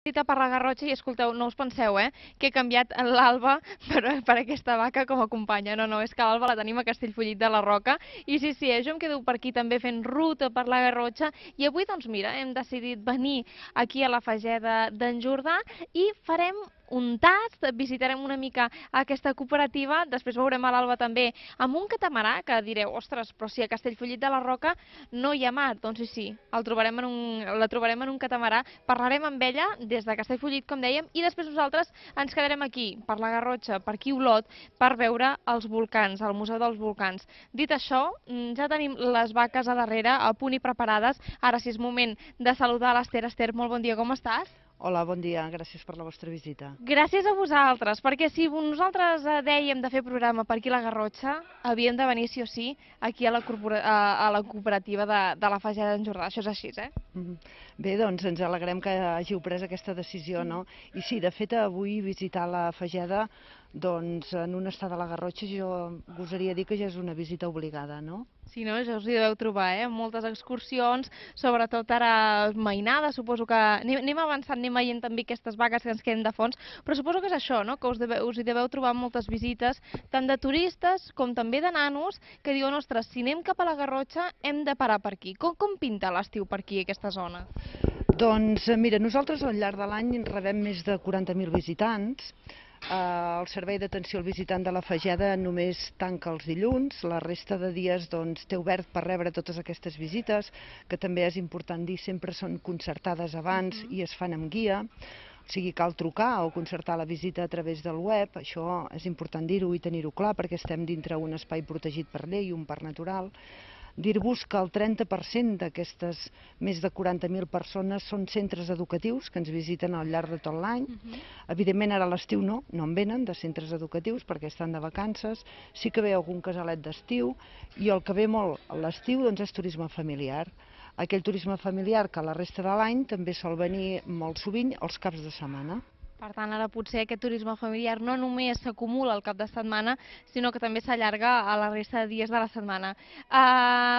Dita per la Garrotxa i escolteu, no us penseu, que he canviat l'Alba per aquesta vaca com a companya. No, no, és que l'Alba la tenim a Castellfollit de la Roca. I sí, sí, jo em quedo per aquí també fent ruta per la Garrotxa. I avui, doncs mira, hem decidit venir aquí a la Fageda d'en Jordà i farem un tast, visitarem una mica aquesta cooperativa, després veurem a l'Alba també amb un catamarà, que direu, ostres, però si a Castellfollit de la Roca no hi ha mar. Doncs sí, sí, la trobarem en un catamarà, parlarem amb ella des de Castellfollit, com dèiem, i després nosaltres ens quedarem aquí, per la Garrotxa, per aquí Olot, per veure els volcans, el Museu dels Volcans. Dit això, ja tenim les vaques a darrere, a punt i preparades. Ara sí és moment de saludar l'Ester. Ester, molt bon dia, com estàs? Hola, bon dia, gràcies per la vostra visita. Gràcies a vosaltres, perquè si nosaltres dèiem de fer programa per aquí a la Garrotxa, havíem de venir sí o sí aquí a a la cooperativa de la Fageda d'en Jordà. Això és així, eh? Bé, doncs ens alegrem que hàgiu pres aquesta decisió, no? I sí, de fet, avui visitar la Fageda, doncs en un estat de la Garrotxa jo gosaria dir que ja és una visita obligada, no? Sí, no? Ja us hi deveu trobar, moltes excursions, sobretot ara mainades, suposo que anem avançant, anem veient també aquestes vagues que ens queden de fons, però suposo que és això, no? Que us hi deveu trobar moltes visites, tant de turistes com també de nanos, que diuen, ostres, si anem cap a la Garrotxa hem de parar per aquí. Com pinta l'estiu per aquí, aquesta zona? Doncs mira, nosaltres al llarg de l'any rebem més de 40.000 visitants. El servei d'atenció al visitant de la Fageda només tanca els dilluns, la resta de dies doncs, té obert per rebre totes aquestes visites, que també és important dir, sempre són concertades abans i es fan amb guia. O sigui, cal trucar o concertar la visita a través del web, això és important dir-ho i tenir-ho clar perquè estem dintre un espai protegit per llei, un parc natural. Dir-vos que el 30% d'aquestes més de 40.000 persones són centres educatius que ens visiten al llarg de tot l'any. Evidentment ara a l'estiu no en venen de centres educatius perquè estan de vacances, sí que ve algun casalet d'estiu i el que ve molt a l'estiu doncs, és turisme familiar. Aquell turisme familiar que la resta de l'any també sol venir molt sovint els caps de setmana. Per tant, ara potser aquest turisme familiar no només s'acumula al cap de setmana, sinó que també s'allarga a la resta de dies de la setmana.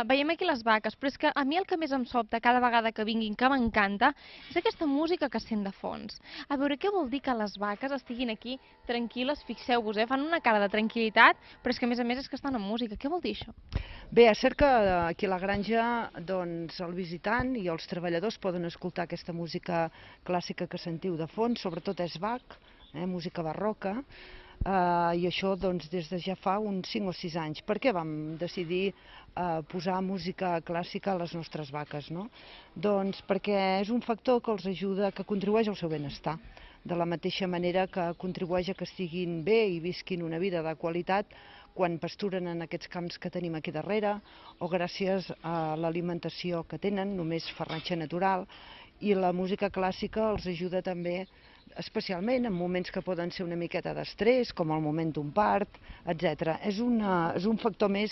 Veiem aquí les vaques, però és que a mi el que més em sobta cada vegada que vinguin, que m'encanta, és aquesta música que sent de fons. A veure, què vol dir que les vaques estiguin aquí tranquil·les? Fixeu-vos, fan una cara de tranquil·litat, però és que a més és que estan amb música. Què vol dir això? Bé, és cert que aquí a la granja doncs, el visitant i els treballadors poden escoltar aquesta música clàssica que sentiu de fons, sobretot és Bach, música barroca, i això doncs, des de ja fa uns 5 o 6 anys. Per què vam decidir posar música clàssica a les nostres vaques? No? Doncs perquè és un factor que els ajuda, que contribueix al seu benestar. De la mateixa manera que contribueix a que estiguin bé i visquin una vida de qualitat quan pasturen en aquests camps que tenim aquí darrere o gràcies a l'alimentació que tenen, només farratge natural, i la música clàssica els ajuda també especialment en moments que poden ser una miqueta d'estrès, com el moment d'un part, etc. És un factor més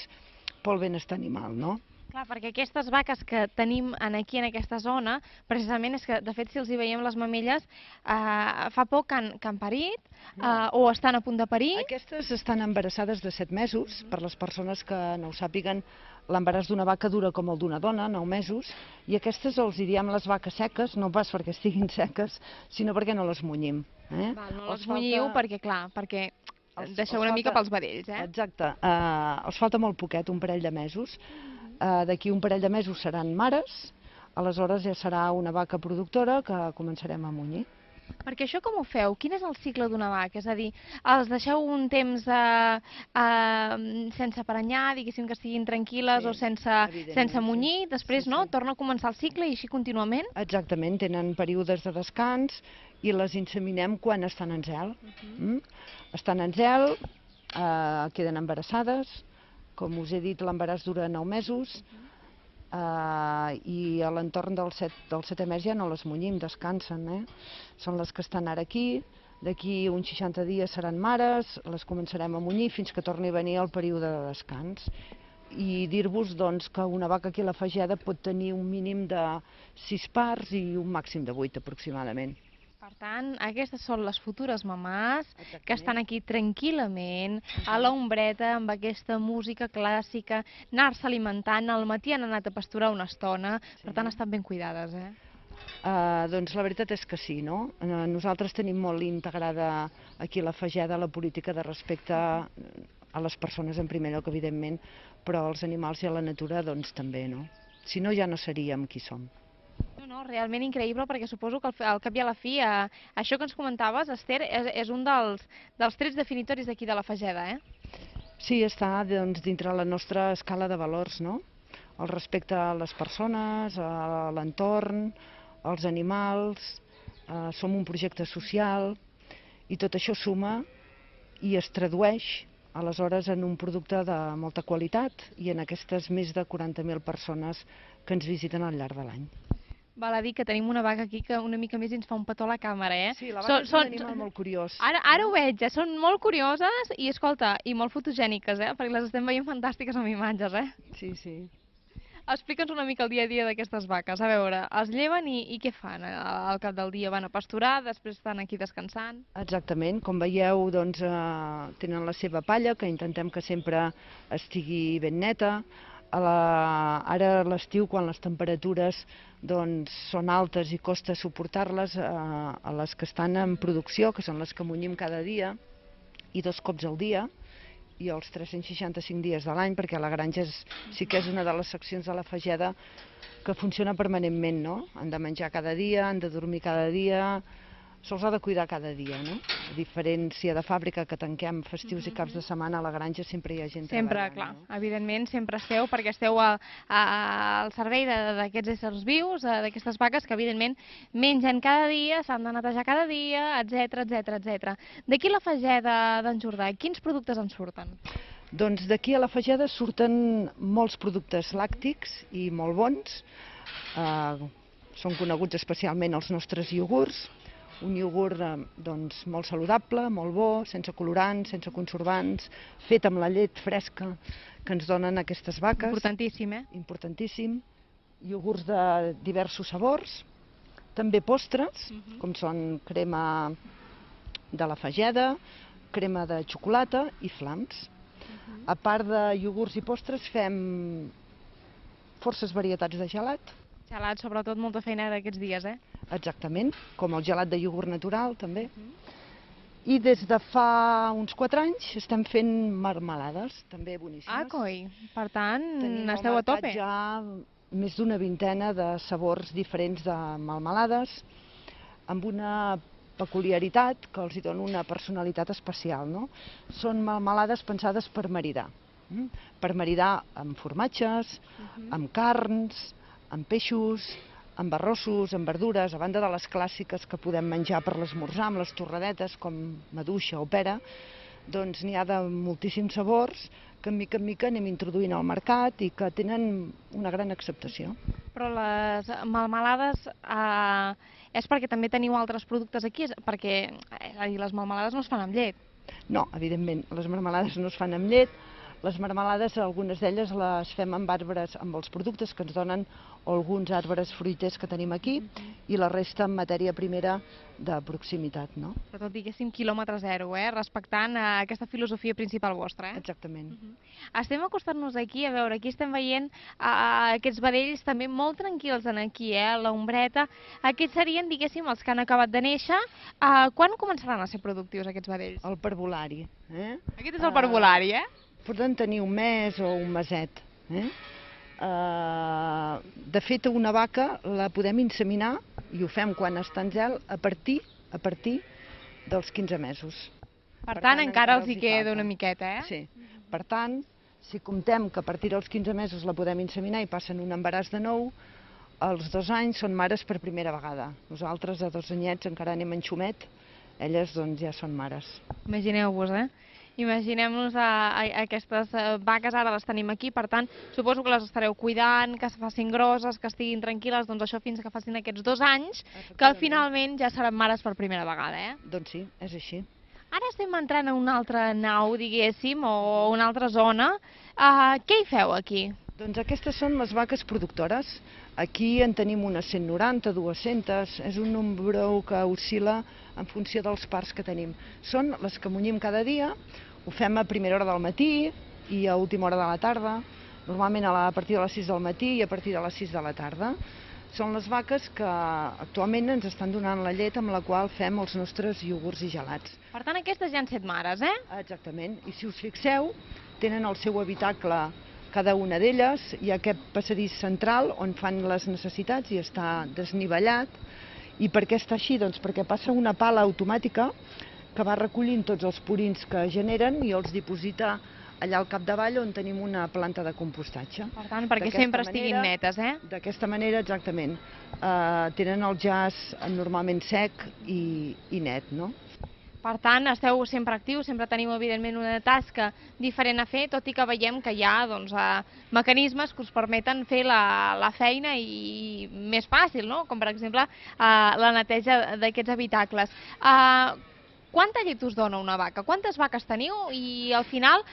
pel benestar animal, no? Clar, perquè aquestes vaques que tenim aquí en aquesta zona, precisament és que, de fet, si els hi veiem les mamelles, fa poc que han parit o estan a punt de parir. Aquestes estan embarassades de 7 mesos, per les persones que no ho sàpiguen, l'embaràs d'una vaca dura com el d'una dona, 9 mesos, i aquestes els hi diem les vaques seques, no pas perquè estiguin seques, sinó perquè no les munyim. Val, no les munyiu perquè, clar, perquè deixeu una mica pels vedells, Exacte, els falta molt poquet, un parell de mesos. D'aquí un parell de mesos seran mares, aleshores ja serà una vaca productora que començarem a munyir. Perquè això com ho feu? Quin és el cicle d'una vaca? És a dir, els deixeu un temps sense prenyar, diguéssim que estiguin tranquil·les o sense munyir, després no? Torna a començar el cicle i així contínuament? Exactament, tenen períodes de descans i les inseminem quan estan en zel. Estan en zel, queden embarassades, com us he dit l'embaràs dura 9 mesos i a l'entorn del 7è mes ja no les munyim, descansen. Són les que estan ara aquí, d'aquí uns 60 dies seran mares, les començarem a munyir fins que torni a venir el període de descans. I dir-vos doncs, que una vaca aquí a la Fageda pot tenir un mínim de 6 parts i un màxim de 8 aproximadament. Per tant, aquestes són les futures mamàs que estan aquí tranquil·lament, a l'ombreta, amb aquesta música clàssica, anar-se alimentant, al matí han anat a pasturar una estona, per tant estan ben cuidades, Doncs la veritat és que sí, no? Nosaltres tenim molt integrada aquí a la Fageda la política de respecte a les persones en primer lloc, evidentment, però als animals i a la natura doncs també, no? Si no, ja no seríem qui som. No, realment increïble, perquè suposo que al cap i a la fi, això que ens comentaves, Esther, és un dels trets definitoris d'aquí de la Fageda, Sí, està doncs, dintre la nostra escala de valors, no? El respecte a les persones, a l'entorn, als animals, som un projecte social i tot això suma i es tradueix aleshores en un producte de molta qualitat i en aquestes més de 40.000 persones que ens visiten al llarg de l'any. Val a dir que tenim una vaca aquí que una mica més ens fa un petó a la càmera, Sí, la vaca és un animal molt curiós. Ara ho veig, són molt curioses i, escolta, i molt fotogèniques, perquè les estem veient fantàstiques amb imatges, Sí, sí. Explica'ns una mica el dia a dia d'aquestes vaques. A veure, es lleven i què fan? Al cap del dia van a pasturar, després estan aquí descansant? Exactament, com veieu, doncs, tenen la seva palla, que intentem que sempre estigui ben neta. Ara a l'estiu, quan les temperatures doncs, són altes i costa suportar-les, a les que estan en producció, que són les que munyim cada dia, i 2 cops al dia, i els 365 dies de l'any, perquè la granja sí que és una de les seccions de la Fageda que funciona permanentment, no? Han de menjar cada dia, han de dormir cada dia, se'ls ha de cuidar cada dia, no? A diferència de fàbrica, que tanquem festius i caps de setmana, a la granja sempre hi ha gent treballant. Sempre, clar, evidentment, sempre esteu, perquè esteu al servei d'aquests éssers vius, d'aquestes vaques que, evidentment, mengen cada dia, s'han de netejar cada dia, etc, etc, etc. D'aquí la Fageda d'en Jordà, quins productes en surten? Doncs d'aquí a la Fageda surten molts productes làctics i molt bons. Són coneguts especialment els nostres iogurts. Un iogurt doncs, molt saludable, molt bo, sense colorants, sense conservants, fet amb la llet fresca que ens donen aquestes vaques. Importantíssim, Importantíssim. Iogurts de diversos sabors. També postres, com són crema de la Fageda, crema de xocolata i flams. A part de iogurts i postres fem forces varietats de gelat. Gelat, sobretot, molta feina d'aquests dies, Exactament, com el gelat de iogurt natural, també. I des de fa uns 4 anys estem fent marmelades, també boníssimes. Ah, coi! Per tant, esteu a tope. tope. Tenim al mercat ja més d'una vintena de sabors diferents de marmelades, amb una peculiaritat que els dona una personalitat especial, no? Són marmelades pensades per maridar. Per maridar amb formatges, amb carns, amb peixos, amb arrossos, amb verdures, a banda de les clàssiques que podem menjar per l'esmorzar, amb les torradetes, com maduixa o pera, doncs n'hi ha de moltíssims sabors que en mica anem introduint al mercat i que tenen una gran acceptació. Però les melmelades és perquè també teniu altres productes aquí? Perquè, és a dir, les melmelades no es fan amb llet. No, evidentment, les marmelades no es fan amb llet. Les marmelades, algunes d'elles les fem amb arbres, amb els productes que ens donen alguns arbres fruiters que tenim aquí i la resta amb matèria primera de proximitat, no? Però tot, diguéssim, quilòmetre zero, respectant aquesta filosofia principal vostra, Exactament. Estem acostant-nos aquí, a veure, aquí estem veient aquests vedells també molt tranquils aquí, a l'ombreta. Aquests serien, diguéssim, els que han acabat de néixer. Quan començaran a ser productius aquests vedells? El parvulari. Aquest és el parvulari, Poden tenir un mes o un meset. De fet, una vaca la podem inseminar, i ho fem quan està en gel, a partir dels 15 mesos. Per tant, encara els hi queda una miqueta, Sí. Per tant, si comptem que a partir dels 15 mesos la podem inseminar i passen un embaràs de nou, als 2 anys són mares per primera vegada. Nosaltres, a 2 anyets, encara anem en xumet, elles doncs ja són mares. Imagineu-vos, Imaginem-nos aquestes vaques, ara les tenim aquí, per tant, suposo que les estareu cuidant, que es facin grosses, que estiguin tranquil·les, doncs això fins que facin aquests 2 anys, que finalment ja seran mares per primera vegada, Doncs sí, és així. Ara estem entrant a una altra nau, diguéssim, o una altra zona. Què hi feu aquí? Doncs aquestes són les vaques productores. Aquí en tenim unes 190, 200, és un nombre que oscil·la en funció dels parcs que tenim. Són les que munyim cada dia, ho fem a primera hora del matí i a última hora de la tarda, normalment a partir de les 6 del matí i a partir de les 6 de la tarda. són les vaques que actualment ens estan donant la llet amb la qual fem els nostres iogurts i gelats. Per tant, aquestes ja han set mares, eh? Exactament, i si us fixeu, tenen el seu habitacle cada una d'elles, hi ha aquest passadís central on fan les necessitats i està desnivellat. I per què està així? Doncs perquè passa una pala automàtica que va recollint tots els purins que generen i els diposita allà al capdavall on tenim una planta de compostatge. Per tant, perquè sempre estiguin netes, eh? D'aquesta manera, exactament. Tenen el jaç normalment sec i net, no? Per tant, esteu sempre actius, sempre teniu, evidentment, una tasca diferent a fer, tot i que veiem que hi ha mecanismes que us permeten fer la feina i més fàcil, no? Com, per exemple, la neteja d'aquests habitacles. Quanta llet us dona una vaca? Quantes vaques teniu? I, al final,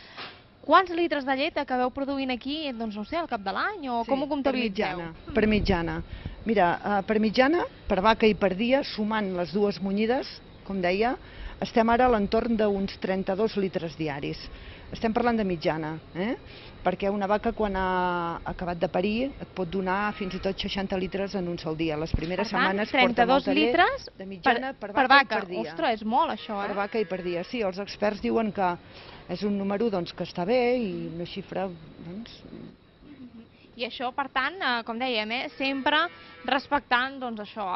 quants litres de llet acabeu produint aquí, doncs, no sé, al cap de l'any? O com ho comptabilitzeu? Per mitjana. Mira, per mitjana, per vaca i per dia, sumant les dues munyides, com deia, estem ara a l'entorn d'uns 32 litres diaris. Estem parlant de mitjana, perquè una vaca quan ha acabat de parir et pot donar fins i tot 60 litres en un sol dia. Les primeres setmanes porta molta llet. 32 litres de mitjana per vaca i per dia. Ostres, és molt això, Per vaca i per dia, sí. Els experts diuen que és un número que està bé i una xifra, doncs... I això, per tant, com dèiem, sempre respectant això,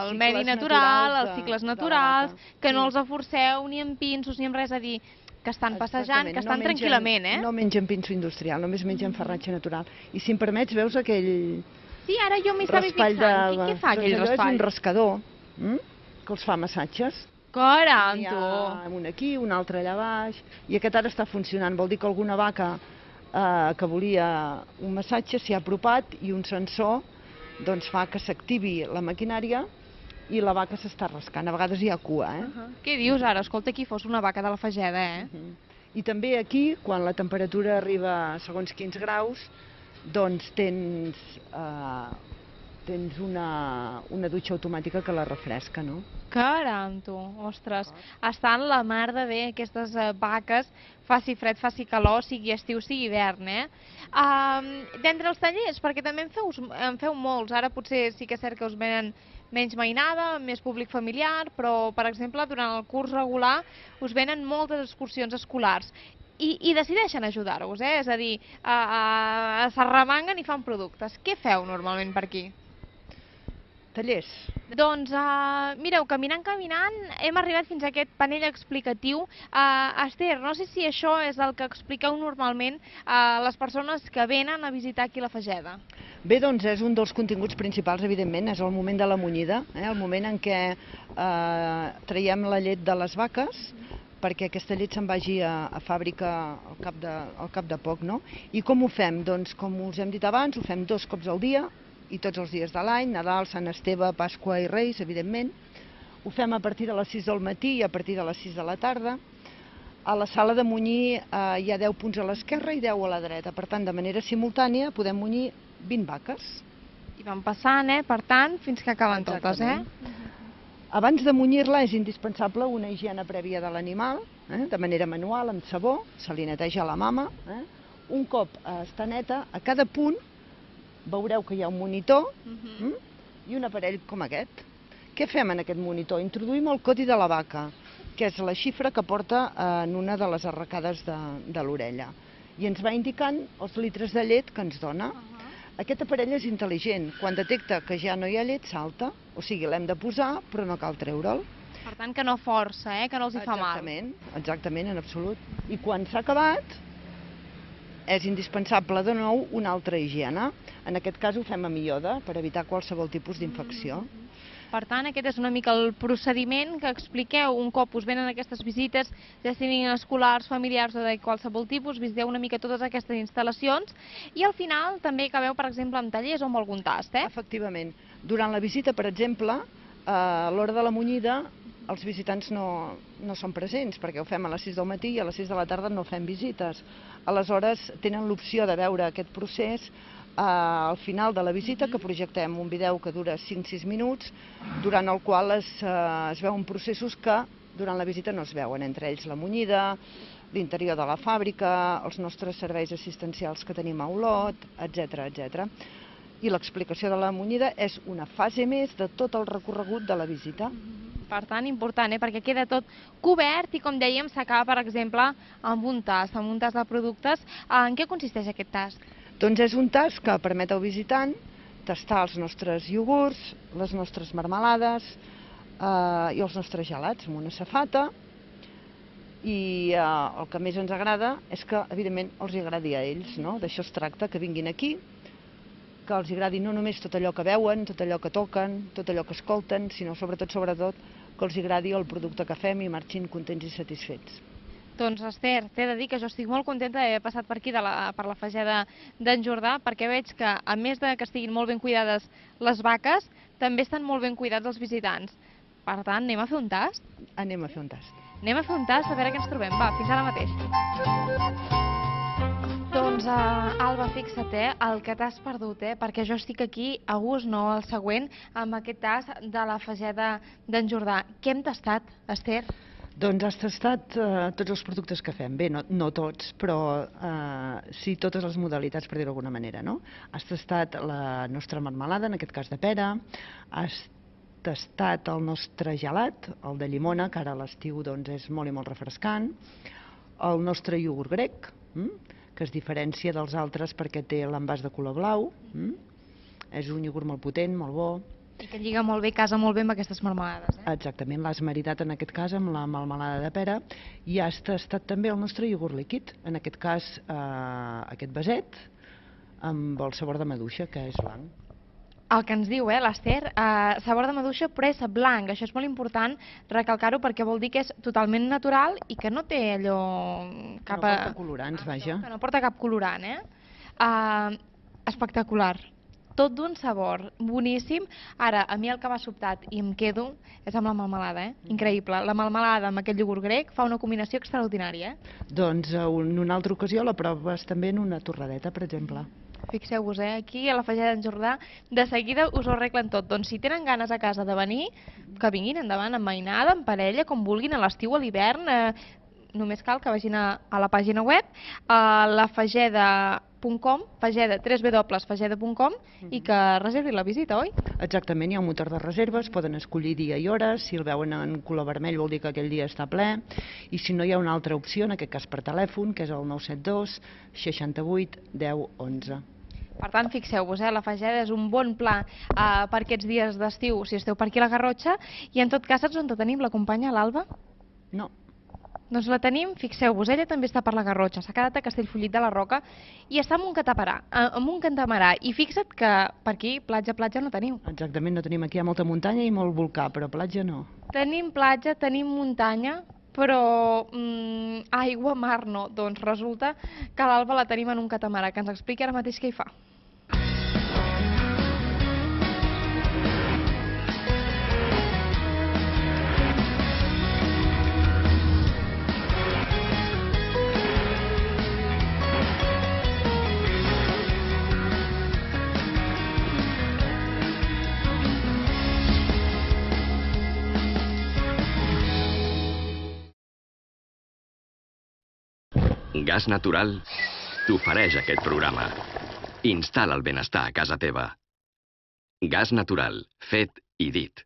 el medi natural, els cicles naturals, que no els forceu ni amb pinços ni amb res, a dir, que estan passejant, que estan tranquil·lament, eh? No mengen pinso industrial, només mengen farratge natural. I si em permets, veus aquell... Sí, ara jo m'hi estava fixant. Què fa aquell raspall? És un rascador que els fa massatges. Caram, N'hi tu! ha un aquí, un altre allà baix, i aquest ara està funcionant. Vol dir que alguna vaca que volia un massatge s'hi ha apropat i un sensor doncs fa que s'activi la maquinària i la vaca s'està rascant. A vegades hi ha cua, Què dius ara? Escolta, aquí fos una vaca de la Fageda, I també aquí, quan la temperatura arriba a segons quins graus, doncs tens una dutxa automàtica que la refresca, no? Caram, tu! Ostres, estan la mar de bé aquestes vaques, faci fred, faci calor, sigui estiu, sigui hivern, D'entre els tallers, perquè també en feu molts, ara potser sí que és cert que us venen menys mainada, més públic familiar, però, per exemple, durant el curs regular us venen moltes excursions escolars. I decideixen ajudar-vos, és a dir, s'arremanguen i fan productes. Què feu normalment per aquí? Tallers. Doncs, mireu, caminant, hem arribat fins a aquest panell explicatiu. Esther, no sé si això és el que expliqueu normalment a les persones que venen a visitar aquí la Fageda. Bé, doncs és un dels continguts principals, evidentment, és el moment de la munyida, el moment en què traiem la llet de les vaques, perquè aquesta llet se'n vagi a fàbrica al cap de poc, no? I com ho fem? Doncs, com us hem dit abans, ho fem 2 cops al dia, i tots els dies de l'any, Nadal, Sant Esteve, Pasqua i Reis, evidentment. Ho fem a partir de les 6 del matí i a partir de les 6 de la tarda. A la sala de munyir hi ha 10 punts a l'esquerra i 10 a la dreta. Per tant, de manera simultània podem munyir 20 vaques. I van passant, per tant, fins que acaben totes, Abans de munyir-la és indispensable una higiene prèvia de l'animal, de manera manual, amb sabó, se li neteja la mama. Un cop està neta, a cada punt veureu que hi ha un monitor i un aparell com aquest. Què fem en aquest monitor? Introduïm el codi de la vaca, que és la xifra que porta en una de les arracades de l'orella. I ens va indicant els litres de llet que ens dona. Aquest aparell és intel·ligent. Quan detecta que ja no hi ha llet, salta. O sigui, l'hem de posar, però no cal treure'l. Per tant, que no força, que no els hi fa mal. Exactament, en absolut. I quan s'ha acabat, és indispensable de nou una altra higiene. En aquest cas ho fem amb iode per evitar qualsevol tipus d'infecció. Per tant, aquest és una mica el procediment que expliqueu un cop us venen aquestes visites, ja siguin escolars, familiars o de qualsevol tipus, visiteu una mica totes aquestes instal·lacions i al final també acabeu, per exemple, amb tallers o amb algun tast, Efectivament. Durant la visita, per exemple, a l'hora de la munyida, els visitants no són presents, perquè ho fem a les 6 del matí i a les 6 de la tarda no fem visites. Aleshores, tenen l'opció de veure aquest procés al final de la visita, que projectem un vídeo que dura 5-6 minuts, durant el qual es veuen processos que durant la visita no es veuen, entre ells la munyida, l'interior de la fàbrica, els nostres serveis assistencials que tenim a Olot, etc. i l'explicació de la munyida és una fase més de tot el recorregut de la visita. Per tant, important, perquè queda tot cobert i, com dèiem, s'acaba, per exemple, amb un tast de productes. En què consisteix aquest tast? Doncs és un tast que permet al visitant tastar els nostres iogurts, les nostres marmelades i els nostres gelats amb una safata. I el que més ens agrada és que, evidentment, els agradi a ells, no? D'això es tracta, que vinguin aquí, que els agradi no només tot allò que veuen, tot allò que toquen, tot allò que escolten, sinó sobretot, que els agradi el producte que fem i marxin contents i satisfets. Doncs, Esther, t'he de dir que jo estic molt contenta d'haver passat per aquí, per la Fageda d'en Jordà, perquè veig que, a més de que estiguin molt ben cuidades les vaques, també estan molt ben cuidats els visitants. Per tant, anem a fer un tast? Anem a fer un tast. Anem a fer un tast a veure què ens trobem. Va, fins ara mateix. Doncs, Alba, fixa't, el que t'has perdut, perquè jo estic aquí a gust, no al següent, amb aquest tast de la Fageda d'en Jordà. Què hem tastat, Esther? Doncs has tastat tots els productes que fem. Bé, no tots, però sí totes les modalitats, per dir-ho d'alguna manera, no? Has tastat la nostra marmelada, en aquest cas de pera, has tastat el nostre gelat, el de llimona, que ara a l'estiu és molt i molt refrescant, el nostre iogurt grec, que es diferencia dels altres perquè té l'envàs de color blau, és un iogurt molt potent, molt bo. I que lliga molt bé, casa molt bé amb aquestes marmelades. Exactament, l'has maridat en aquest cas amb la melmelada de pera, i has tastat també el nostre iogurt líquid, en aquest cas aquest vaset, amb el sabor de maduixa, que és blanc. El que ens diu, l'Esther, sabor de maduixa però és blanc. Això és molt important recalcar-ho perquè vol dir que és totalment natural i que no té allò... No porta colorants, vaja. Que no porta cap colorant, Espectacular. Tot d'un sabor boníssim. Ara, a mi el que m'ha sobtat i em quedo és amb la melmelada, Increïble. La melmelada amb aquest iogurt grec fa una combinació extraordinària, Doncs en una altra ocasió la proves també en una torradeta, per exemple. Fixeu-vos, aquí a la Fageda d'en Jordà de seguida us ho arreglen tot. Doncs si tenen ganes a casa de venir, que vinguin endavant, amb mainada, en parella, com vulguin, a l'estiu, a l'hivern, només cal que vagin a la pàgina web, a lafageda.com, www.fageda.com, i que reservin la visita, oi? Exactament, hi ha un motor de reserves, poden escollir dia i hora, si el veuen en color vermell vol dir que aquell dia està ple, i si no hi ha una altra opció, en aquest cas per telèfon, que és el 972 68 10 11. Per tant, fixeu-vos, la Fageda és un bon pla per aquests dies d'estiu, si esteu per aquí a la Garrotxa, i en tot cas, saps on tenim la companya, l'Alba? No. Doncs la tenim, fixeu-vos, ella també està per la Garrotxa, s'ha quedat a Castellfollit de la Roca i està en un catamarà, i fixa't que per aquí platja no teniu. Exactament, no tenim aquí, hi ha molta muntanya i molt volcà, però platja no. Tenim platja, tenim muntanya, però aigua, mar no. Doncs resulta que l'Alba la tenim en un catamarà, que ens expliqui ara mateix què hi fa. Gas Natural t'ofereix aquest programa. Instal·la el benestar a casa teva. Gas Natural, fet i dit.